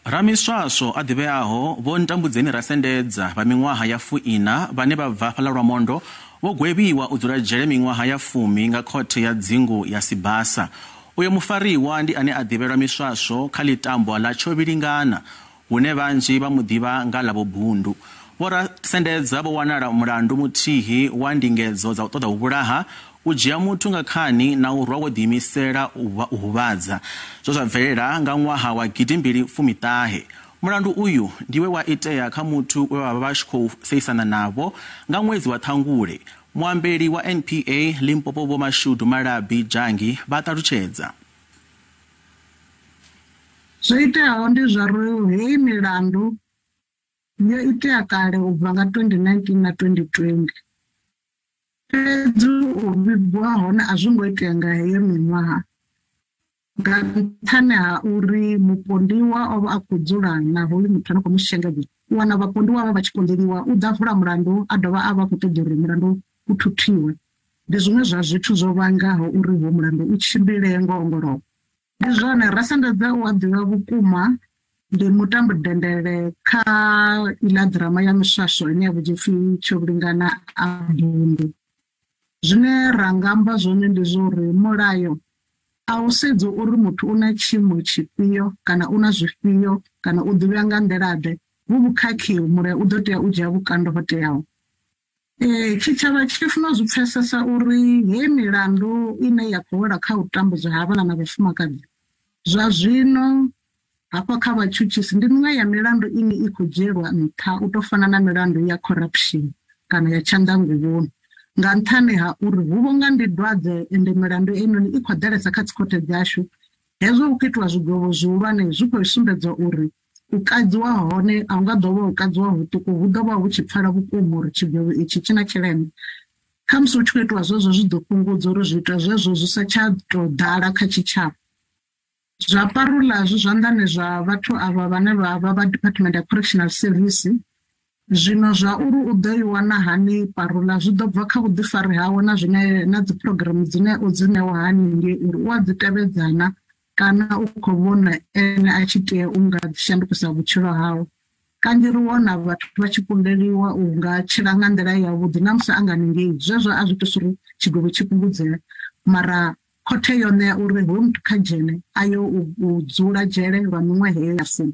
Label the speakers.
Speaker 1: Ramiswaswo a ḓivheaho Vho Ntambudzeni Rasendedza vha miṅwaha ya 40 vhane vha bva fhaḽa Lwamondo vho gwevhiwa u dzula dzhele miṅwaha ya 10 nga khothe ya dzingu ya Sibasa. Uyo mufariwa ndi ane a ḓivhelwa miswaswo kha ḽitambwa ḽa Tshovhilingana, hune vhanzhi vha mu ḓivha nga ḽa Vho Bundu. Vho Rasendedza vho wanala mulandu muthihi wa ndingedzo dza u ṱoḓa u vhulaha, u dzhia muthu nga khani na u rwa wo ḓiimisela u huvhadza, zwo zwa bvelela nga ṅwaha wa 2019. Mulandu uyu ndi we wa itea kha muthu we vha vha tshi khou seisana navho nga ṅwedzi wa Ṱhangule. Muambeli wa NPA Limpopo Vho Mashudu Malabi Dzhangi vha ṱalutshedza.
Speaker 2: Zwo iteaho ndi zwa uri heyi milandu yo itea kale u bva nga 2019 na 2020. Fhedzi u vhigwa hone a zwo ngo itea nga heyo miṅwaha, nga nṱhani ha uri mupondiwa o vha a khou dzula na hoyu muthu ane khou mu shengedza. U wana vhapondiwa vha vha tshi konḓeliwa u ḓa vula mulandu a dovha a vha khou ṱoḓa uri mulandu u thuthiwe. Ndi zwiṅwe zwa zwithu zwo vhangaho uri ho mulandu u tshimbile ngo ongolowa. Ndi zwone, Rasendedza u a ḓivha vhukuma, ndi mutambo dendele kha iḽa ḓirama ya miswaswo ine ya vhidzwa upfi Tshovhilingana a Bundu. Zwine ra nga amba zwone ndi zwa uri mulayo a u sedzi uri muthu u na tshiimo tshifhio kana u na zwifhio kana u ḓivhea nga nḓila ḓe, vhu vhukhakhi mulayo u ḓo tea u dzhia vhukando ho teaho. Tshitshavha tshi funa u zwi pfesesa uri heyi milandu ine ya khou wela kha u tambudzwa ha vhana na vhafumakadzi zwa zwino hafha kha vhatshutshisi ndi miṅwe ya milandu ine i khou dzhielwa nṱha u tou fana na milandu ya corruption kana ya tshanḓanguvhoni, nga nṱhani ha uri hu vho nga ndi dwadze ende milandu einoni i khou ḓalesa kha dzikhothe dzashu. Hezwo hu khou itiwa zwigwevho zwihulwane zwi khou sumbedza uri u kadziwa hone a hu nga ḓo vha u kadziwa huṱuku, hu ḓo vha hu tshi pfala vhukuma uri tshigwevho itshi tshi na tshileme. Khamusi hu tshi khou itiwa zwezwo zwi ḓo fhungudza uri zwiito zwezwo zwi sa tsha tou ḓala kha tshitshavha. Zwa parula zwi zwanḓani zwa vhathu avha vhane vha vha vha Department ya Correctional Service. Zwino zwa uri u ḓo i wana hani parula zwi ḓo bva kha vhuḓifari hawe na zwine na dzi programu dzine o dzi ṋewa hani ngei uri u a dzi tevhedzana kana u khou vhona ene a tshi tea u nga shandukisa vhutshilo hawe. Kanzhi ri wana vhathu vha tshi kundeliwa u nga tshila nga nḓila yavhuḓi na musi a nga ningei, zwezwo a zwi iti uri tshigwevho tshi fhungudzee, mara khothe yo ṋea uri hoyu muthu kha dzhene a yo u dzula dzhele lwa miṅwaha heyo ya 10.